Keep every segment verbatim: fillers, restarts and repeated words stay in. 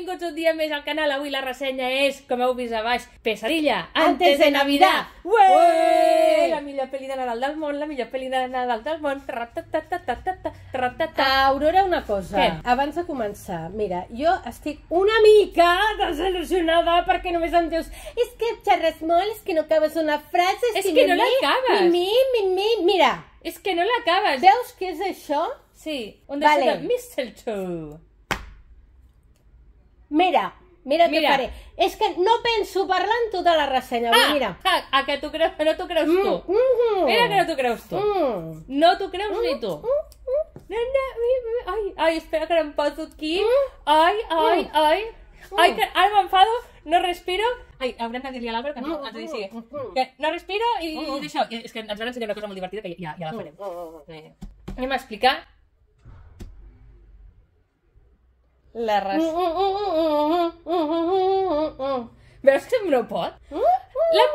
benvinguts un dia més al canal. Avui la ressenya és, com heu vist a baix, Pesadilla antes de Navidad. Ué! La millor pel·li de Nadal del món, la millor pel·li de Nadal del món. Aurora, una cosa. Què? Abans de començar, mira, jo estic una mica desil·lusionada perquè només em dius és que xerres molt, és que no acabes una frase, És que no l'acabes. Mi, mi, mi, mira. És que no l'acabes. Veus què és això? Sí, un Vale. desig de mistletoe. Mira, mira què Mira. faré. És que no penso parlar en tota la ressenya. Ah, Mira. ah, a que tu creus, no t'ho creus tu. Mm, mm, Mira que no t'ho creus tu. mm. No t'ho creus ni tu. No, no, mi- mi- ai, ai, espera que no em poso aquí. Ai, ai, ai. Ai, que ara m'enfado, no respiro. Ai, haurem de dir-li a l'Àlvaro que no, ens digui, sí, que no respiro i, i d'això. I És que ens van ensenyar una cosa molt divertida que ja, ja la farem. Eh, Anem a explicar la res... Veus que no pot? La...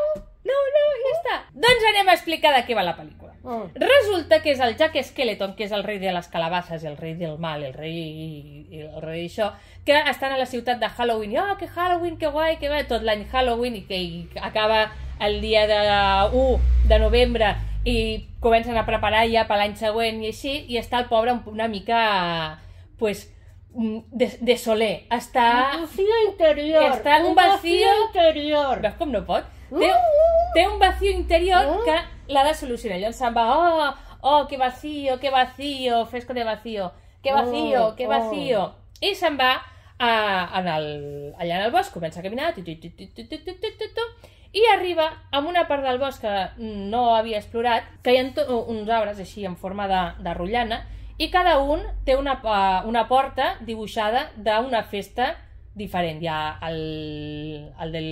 No, no, ja està. Doncs anem a explicar de què va la pel·lícula. Resulta que és el Jack Skeleton, que és el rei de les calabasses, el rei del mal, el rei i el rei d'això, que estan a la ciutat de Halloween. I, oh, que Halloween, que guai, que va, tot l'any Halloween, i que i acaba el dia de u de novembre i comencen a preparar ja per l'any següent i així, i està el pobre una mica, pues, de, de soler. Està... Un vacío interior. Està un vacío... interior. Veus com no pot? Té, té un vacío interior que l'ha de solucionar. Llavors se'n va, oh, oh, que vacío, que vacío, fresco de vacío, que vacío, que vacío. I se'n va a, en el, allà en el bosc, comença a caminar, tu, tu, tu, tu, tu, tu, tu, tu, tu, i arriba a una part del bosc que no havia explorat, que hi ha uns arbres així en forma de, de rotllana, i cada un té una, una porta dibuixada d'una festa diferent. Hi ha el, el del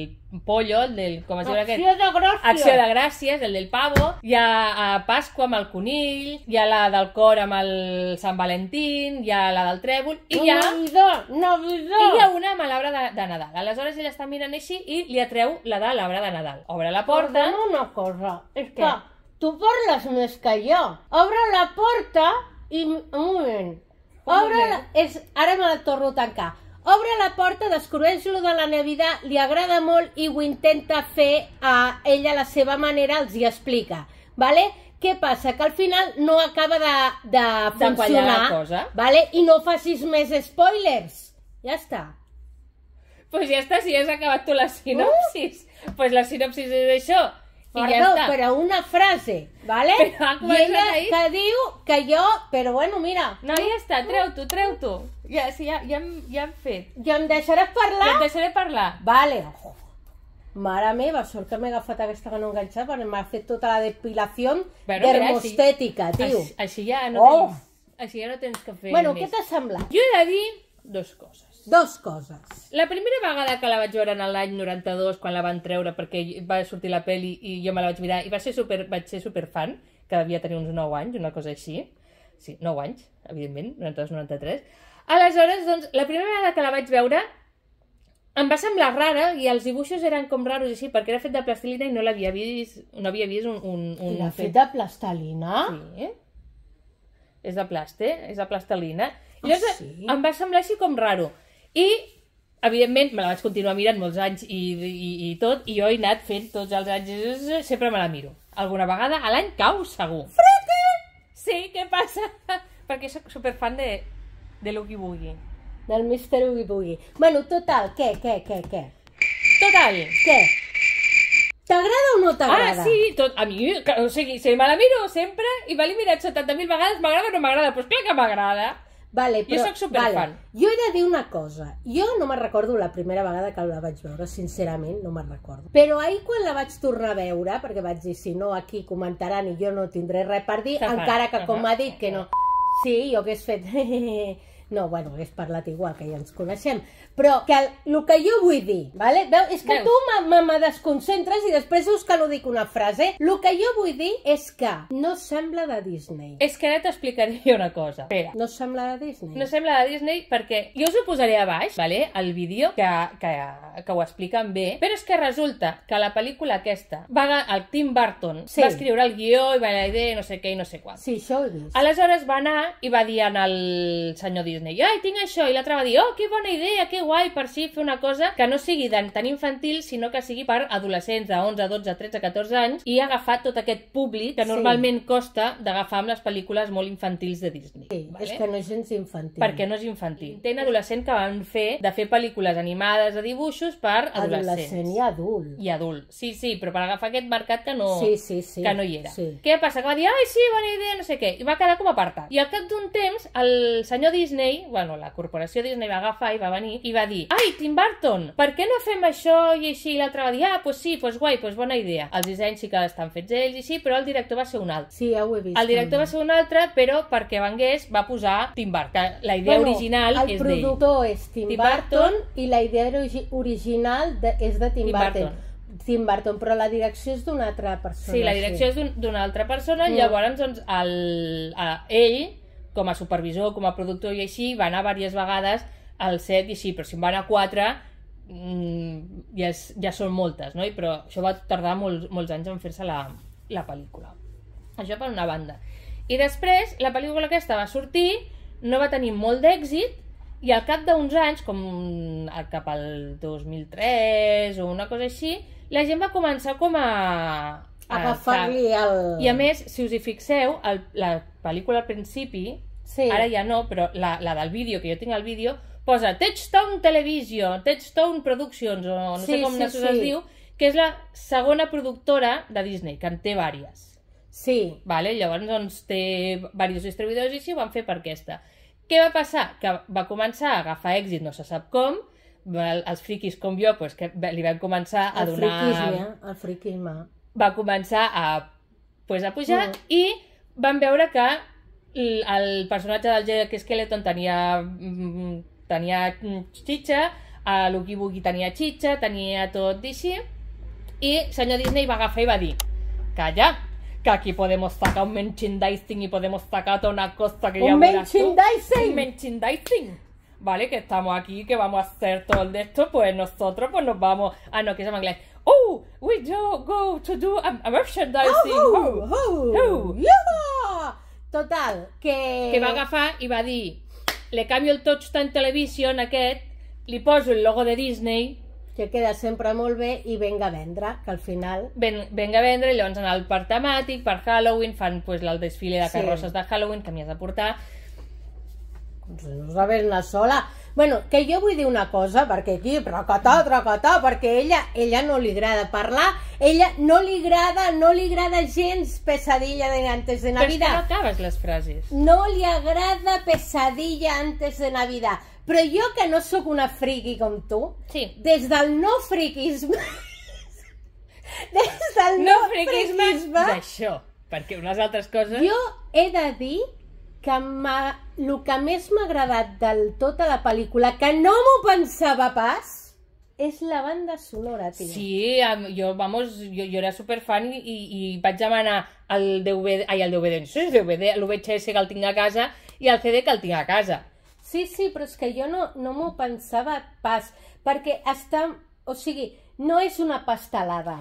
pollo, el del... Com es diu aquest? Acció de gràcies. Acció de gràcies, el del pavo. Hi ha a Pasqua amb el conill, hi ha la del cor amb el Sant Valentín, hi ha la del trèvol, i hi ha... Navidad, Navidad. I hi ha una amb l'arbre de, de Nadal. Aleshores ella està mirant així i li atreu la de l'arbre de Nadal. Obre la porta... Perdona una cosa, és Què? que tu parles més que jo. Obre la porta i... Un moment. Un Obre moment. la... És... Ara me la torno a tancar. Obre la porta, descobreix lo de la Navidad, li agrada molt i ho intenta fer a ella a la seva manera, els hi explica. Vale? Què passa? Que al final no acaba de, de De quallar la funcionar. cosa. Vale? I no facis més spoilers. Ja està. Pues ja està, si ja has acabat tu la sinopsis. Uh! Pues la sinopsis és això. I Perdó, ja està. però una frase, vale? Però ha I començat ella ahí. que diu que jo... Però bueno, mira, No, ja està, treu-t'ho, treu-t'ho. Ja, sí, ja, ja, hem, ja hem fet. ja em deixaràs Ja parlar? et deixaré parlar. Vale. Oh, mare meva, sort que m'he agafat aquesta que no enganxava, perquè m'ha fet tota la depilació Bueno, mira, dermostètica, tio. Així, així ja no Oh. tens, així ja no tens que fer Bueno, més. què t'ha semblat? Jo he de dir dues coses. Dos coses. La primera vegada que la vaig veure en l'any noranta-dos, quan la van treure perquè va sortir la peli i jo me la vaig mirar i va ser super, vaig ser superfan, que devia tenir uns nou anys, una cosa així. Sí, nou anys, evidentment, noranta-dos noranta-tres. Aleshores, doncs, la primera vegada que la vaig veure em va semblar rara i els dibuixos eren com raros així, perquè era fet de plastilina i no l'havia vist, no havia vist un... un, un L'ha fet de plastelina? Sí. És de plaste, és de plastelina. I Ah, llavors sí? em va semblar així com raro. I, evidentment, me la vaig continuar mirant molts anys i, i, i tot, i jo he anat fent tots els anys, sempre me la miro. Alguna vegada a l'any cau, segur. Frete! Sí, què passa? Perquè soc superfan de, de l'Oogie Boogie. Del mister Oogie Boogie. Bueno, total, què, què, què, què? Total. Què? T'agrada o no Ah, t'agrada? sí, tot, a mi, que- o sigui, si me la miro sempre i me l'he mirat setanta mil vegades, m'agrada o no m'agrada? Doncs clar que m'agrada. Vale, Jo però, sóc superfan. Vale. Jo he de dir una cosa. Jo no me'n recordo la primera vegada que la vaig veure, sincerament, no me'n recordo. Però ahir quan la vaig tornar a veure, perquè vaig dir, si no, aquí comentaran i jo no tindré res per dir, Te fan. encara que com Uh-huh. m'ha dit que no... Sí, jo hagués fet... No, bueno, hagués parlat igual, que ja ens coneixem. Però que el, el que jo vull dir, vale? Veu? És que Veus? tu me, me, me desconcentres i després dius que no dic una frase. El que jo vull dir és que no sembla de Disney. És que ara t'explicaré jo una cosa. Espera. No sembla de Disney? No sembla de Disney perquè jo us ho posaré a baix, vale? El vídeo que, que, que ho expliquen bé, però és que resulta que la pel·lícula aquesta, va, el Tim Burton Sí. va escriure el guió i va la idea i no sé què i no sé quant. Sí, això ho he vist. Aleshores va anar i va dir al senyor Disney Disney. I, ai, tinc això, i l'altre va dir, oh, que bona idea, que guai, per si fer una cosa que no sigui tan infantil, sinó que sigui per adolescents de onze, dotze, tretze, catorze anys, i ha agafat tot aquest públic que normalment sí. costa d'agafar amb les pel·lícules molt infantils de Disney. Sí, vale? És que no és gens infantil. Perquè no és infantil. Ten adolescent que van fer de fer pel·lícules animades de dibuixos per adolescents. Adolescent i adult. I adult. Sí, sí, però per agafar aquest mercat que no, sí, sí, sí. que no hi era. Sí. Què passa? Que va dir, ai, sí, bona idea, no sé què. I va quedar com apartat. I al cap d'un temps, el senyor Disney, bueno, la corporació Disney va agafar i va venir i va dir, ai, Tim Burton, per què no fem això i així? I l'altre va dir, ah, pues sí, pues guai, pues bona idea. Els dissenys sí que estan fets ells i sí, però el director va ser un altre. Sí, ja ho he vist. El director també va ser un altre, però perquè vengués va posar Tim Burton, que la idea bueno, original és d'ell. El productor és Tim, Tim Burton, Burton i la idea original de, és de Tim, Tim Burton. Burton. Tim Burton, però la direcció és d'una altra persona. Sí, la direcció sí. és d'una altra persona, mm. llavors doncs, el, a, ell, com a supervisor, com a productor i així, va anar diverses vegades al set i així, però si en van a quatre, mmm, ja, és, ja són moltes, no? I, però això va tardar molts, molts anys en fer-se la, la pel·lícula. Això per una banda. I després, la pel·lícula aquesta va sortir, no va tenir molt d'èxit, i al cap d'uns anys, com cap al dos mil tres o una cosa així, la gent va començar com a... a agafar-li el... I a més, si us hi fixeu, el, la pel·lícula al principi, sí. ara ja no, però la, la del vídeo, que jo tinc el vídeo, posa Touchstone Television, Touchstone Productions, o no sí, sé com sí, sí. es diu, que és la segona productora de Disney, que en té vàries. Sí. Vale? Llavors doncs, té diversos distribuïdors i sí, ho van fer per aquesta. Què va passar? Que va començar a agafar èxit, no se sap com, els friquis com jo, pues, que li van començar a el donar... Friquisme, el friquisme. Va començar a, pues, a pujar mm. i van veure que el personatge del Jack Skeleton tenia, tenia xitxa, l'Oogie Boogie tenia xitxa, tenia tot d'així, i senyor Disney va agafar i va dir, calla, que aquí podemos sacar un merchandising y podemos sacar toda una cosa que ya verás tú. ¿Un merchandising? Un merchandising. Vale, que estamos aquí, que vamos a hacer todo el de esto, pues nosotros pues nos vamos... Ah, no, que se llama inglés. Oh, we do go to do a, a merchandising. Oh, oh, oh, oh. Yeah. Total, que... Que va agafar i va dir, le canvio el Touchstone Television aquest, li poso el logo de Disney... que queda sempre molt bé i venga a vendre, que al final... Ven, venga a vendre, i llavors en el parc temàtic, per Halloween, fan pues, el desfile de carrosses sí. de Halloween que m'hi has de portar. No sabes una sola. Bueno, que jo vull dir una cosa, perquè aquí, tracatà, tracatà, perquè ella, ella no li agrada parlar, ella no li agrada, no li agrada gens Pesadilla de antes de Navidad. Però és que no acabes les frases. No li agrada Pesadilla antes de Navidad. Però jo, que no sóc una friqui com tu, sí. des del no friquisme... des del no, no friquisme... friquisme... d'això, perquè unes altres coses... Jo he de dir que el que més m'ha agradat del tota la pel·lícula, que no m'ho pensava pas, és la banda sonora, tia. Sí, jo, vamos, jo, jo era superfan i, i, i vaig demanar el D V D, ai, el D V D, no sé, el D V D, l'U V H S que el tinc a casa i el C D que el tinc a casa. Sí, sí, però és que jo no, no m'ho pensava pas, perquè està... O sigui, no és una pastelada.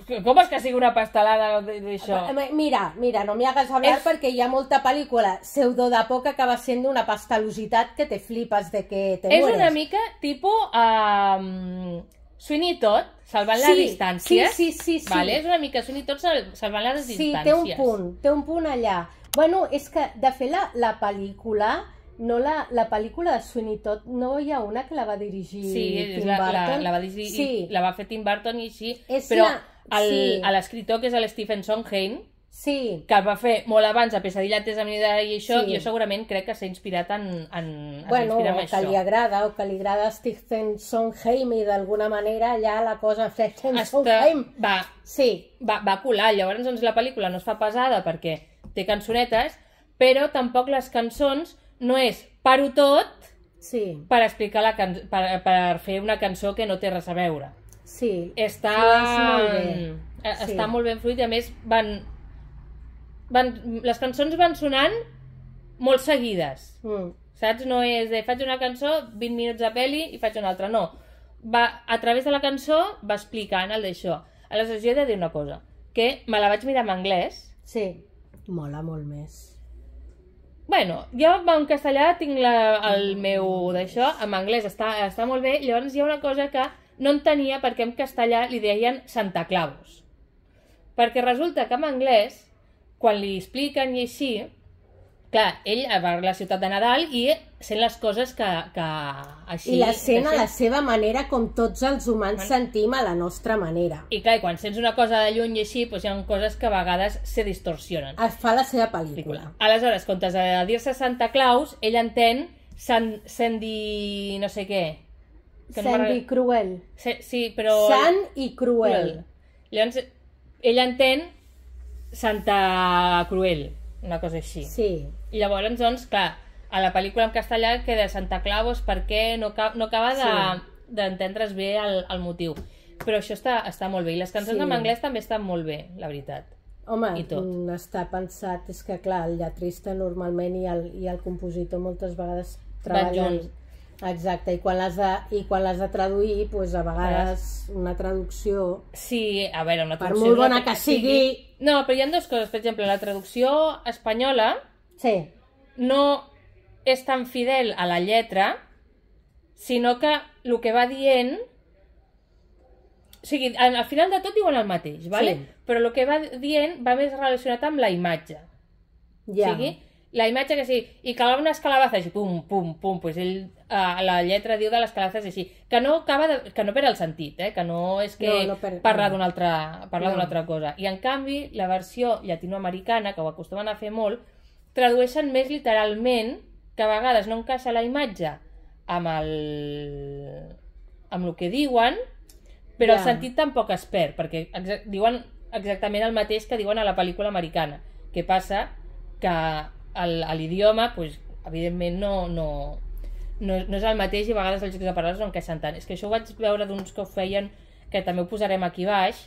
Com és que sigui una pastelada d'això? Mira, mira, no m'hi hagas hablar és... perquè hi ha molta pel·lícula pseudo de por que acaba sent una pastelositat que te flipes de que te és mueres. És una mica tipus um, Sweeney Todd, salvant sí, les distàncies. Sí, sí, sí, sí. Vale? És una mica Sweeney Todd salvant les distàncies. Sí, té un punt, té un punt allà. Bueno, és que de fer la, la pel·lícula... No, la, la pel·lícula de Sweeney Todd, no hi ha una que la va dirigir sí, Tim la, Burton? La, la, va dirigir, sí, la va fer Tim Burton i sí, és però la... sí. l'escriptor, que és el Stephen Sondheim, sí. que el va fer molt abans a Pesadilla antes de Navidad i això, sí. jo segurament crec que s'ha inspirat en, en, bueno, en o que li agrada, o que li agrada Stephen Sondheim i d'alguna manera ja la cosa Stephen Sondheim va, sí. va, va colar. Llavors doncs, la pel·lícula no es fa pesada perquè té cançonetes, però tampoc les cançons no és paro tot sí. per explicar la can... per, per fer una cançó que no té res a veure. Sí, està molt bé. Està sí. molt ben fluid i a més van... van... les cançons van sonant molt seguides. Mm. Saps? No és de faig una cançó, vint minuts de pel·li i faig una altra, no. Va, a través de la cançó va explicant el d'això. Aleshores jo he de dir una cosa, que me la vaig mirar en anglès. Sí, mola molt més. Bueno, jo en castellà tinc la, el meu d'això, en anglès està, està molt bé, llavors hi ha una cosa que no entenia perquè en castellà li deien Santa Claus. Perquè resulta que en anglès, quan li expliquen i així, clar, ell va a la ciutat de Nadal i sent les coses que, que així... I la sent a la seva manera, com tots els humans sentim a la nostra manera. I clar, quan sents una cosa de lluny i així, doncs hi ha coses que a vegades se distorsionen. Es fa la seva pel·lícula. Aleshores, comptes de dir-se Santa Claus, ell entén Sandy... no sé què. Sandy Cruel. Sí, però... Sant i Cruel. Llavors, ell entén Santa Cruel, una cosa així. Sí. I llavors, doncs, clar, a la pel·lícula en castellà queda Santa Claus perquè no, no acaba d'entendre's de, bé el, el motiu. Però això està, està molt bé. I les cançons sí. en anglès també estan molt bé, la veritat. Home, està pensat, és que clar, el lletrista normalment i el, i el compositor moltes vegades treballen... Exacte, i quan l'has de, i quan l'has de traduir, doncs a vegades una traducció... Sí, a veure, una traducció... Per molt bona que sigui... No, però hi ha dues coses. Per exemple, la traducció espanyola sí. no és tan fidel a la lletra, sinó que el que va dient... O sigui, al final de tot diuen el mateix, ¿vale? Sí. Però el que va dient va més relacionat amb la imatge. Ja. O sigui, la imatge que sí, i que unes calabazes i pum, pum, pum, doncs ell, uh, la lletra diu de les calabazes així, que no acaba de, que no perd el sentit, eh? Que no és que no, no per... parla d'una altra, parla no. d'una altra cosa. I en canvi, la versió llatinoamericana, que ho acostumen a fer molt, tradueixen més literalment, que a vegades no encaixa la imatge amb el, amb el que diuen, però ja. el sentit tampoc es perd, perquè exa diuen exactament el mateix que diuen a la pel·lícula americana. Què passa? Que l'idioma, pues, evidentment, no, no, no, no és el mateix i a vegades els jocs de paraules no encaixen tant. És que això ho vaig veure d'uns que ho feien, que també ho posarem aquí baix,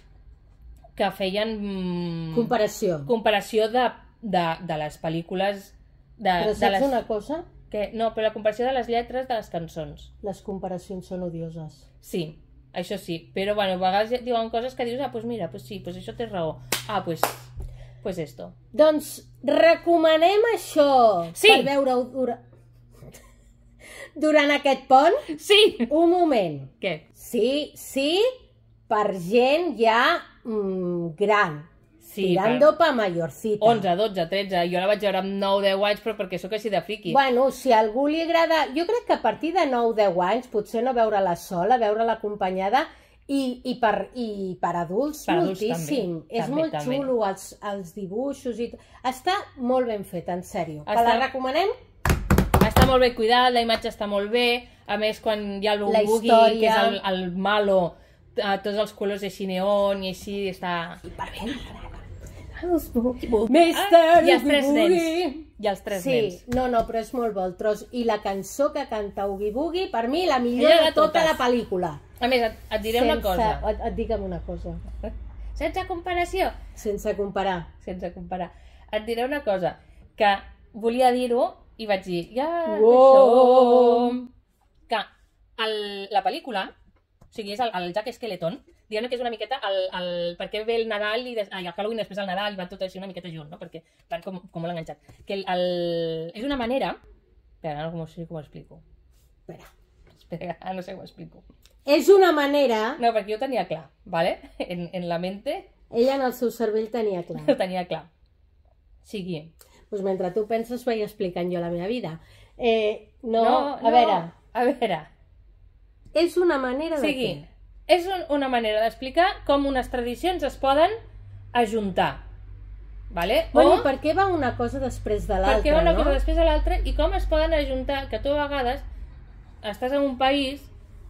que feien... Mmm, comparació. Comparació de, de, de les pel·lícules... De, però saps de les... una cosa? Que, no, però la comparació de les lletres de les cançons. Les comparacions són odioses. Sí, això sí. Però, bueno, a vegades diuen coses que dius, ah, doncs mira, pues sí, pues això té raó. Ah, doncs... Pues... Pues esto. Doncs recomanem això sí. per veure-ho dura... durant aquest pont. Sí. Un moment. Què? Sí, sí, per gent ja mm, gran. Sí, tirando per... pa mayorcita. onze, dotze, tretze. Jo la vaig veure amb nou deu anys, però perquè sóc així de friqui. Bueno, si a algú li agrada... Jo crec que a partir de nou deu anys, potser no veure-la sola, veure-la acompanyada... I, i, per, i per adults per moltíssim. Adults, és també, molt també. Xulo, els, els dibuixos i... Està molt ben fet, en sèrio. Està... Que la recomanem? Està molt ben cuidat, la imatge està molt bé. A més, quan hi ha el Boogie, que és el, el malo, tots els colors així neon i així està... I per ben mister Ah, i els tres nens. I els tres sí, nens. No, no, però és molt bo el tros. I la cançó que canta Oogie Boogie, per mi, la millor de, de tota la pel·lícula. A més, et, et diré sense, una cosa. Et, et digue'm una cosa. Sense comparació. Sense comparar. Sense comparar. Et diré una cosa, que volia dir-ho i vaig dir, ja, wow. això... Que el, la pel·lícula, o sigui, és el, el Jack Skeleton, diguem que és una miqueta el, el, perquè ve el Nadal i des, ai, el Halloween després el Nadal i van tot així una miqueta junt, no? Perquè van com, com molt enganxat. Que el, el, és una manera... Espera, no sé com ho explico. Espera. Espera, no sé com ho explico. És una manera... No, perquè jo ho tenia clar, ¿vale? En, en la mente... Ella en el seu cervell tenia clar. Ho tenia clar. Sigui... Doncs mentre tu penses vaig explicant jo la meva vida. Eh, no, no, a no, veure... A veure... És una manera de sigui, què? És un, una manera d'explicar com unes tradicions es poden ajuntar. Vale? Bueno, o, per què va una cosa després de l'altra, no? Per què va una cosa després de l'altra i com es poden ajuntar, que tu a vegades estàs en un país,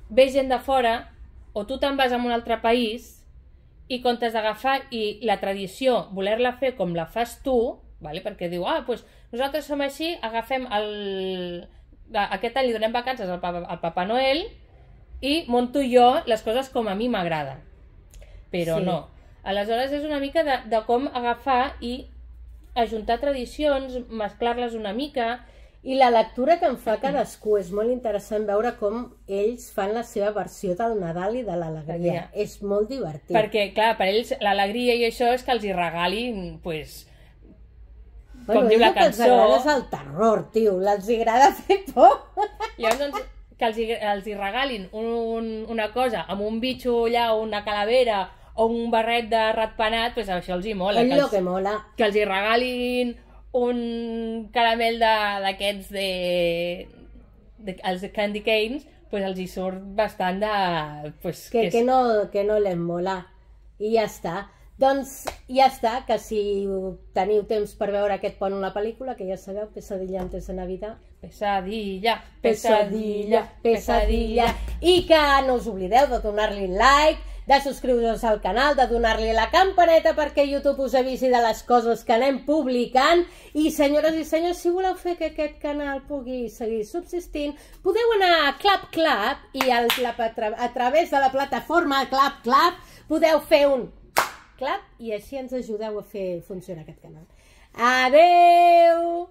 ve gent de fora, o tu te'n vas a un altre país, i comptes d'agafar i la tradició, voler-la fer com la fas tu, vale? Perquè diu, ah, doncs nosaltres som així, agafem el... aquest any li donem vacances al Papa, al Papa Noel, i monto jo les coses com a mi m'agrada. Però sí. No. Aleshores és una mica de, de com agafar i ajuntar tradicions, mesclar-les una mica. I la lectura que en fa cadascú és molt interessant veure com ells fan la seva versió del Nadal i de l'alegria. És molt divertit. Perquè, clar, per ells l'alegria i això és que els hi regalin, pues, com diu la cançó... El que els agrada és el terror, tio, els agrada fer por. Llavors, doncs, que els, els hi regalin un, una cosa amb un bitxo allà, una calavera o un barret de ratpenat, doncs això els hi mola. És que el els, que mola. Que els hi regalin un caramel d'aquests de, de, de... els Candy Canes, pues els hi surt bastant de... Pues, que, que, que, no, que no les mola. I ja està. Doncs ja està, que si teniu temps per veure aquest pont una pel·lícula, que ja sabeu, Pesadilla antes de Navidad. Pesadilla, pesadilla, pesadilla. I que no us oblideu de donar-li like, de subscriure-us al canal, de donar-li la campaneta perquè YouTube us avisi de les coses que anem publicant. I senyores i senyors, si voleu fer que aquest canal pugui seguir subsistint, podeu anar a Clap Clap i al, la, a través de la plataforma Clap Clap podeu fer un clap i així ens ajudeu a fer funcionar aquest canal. Adeu!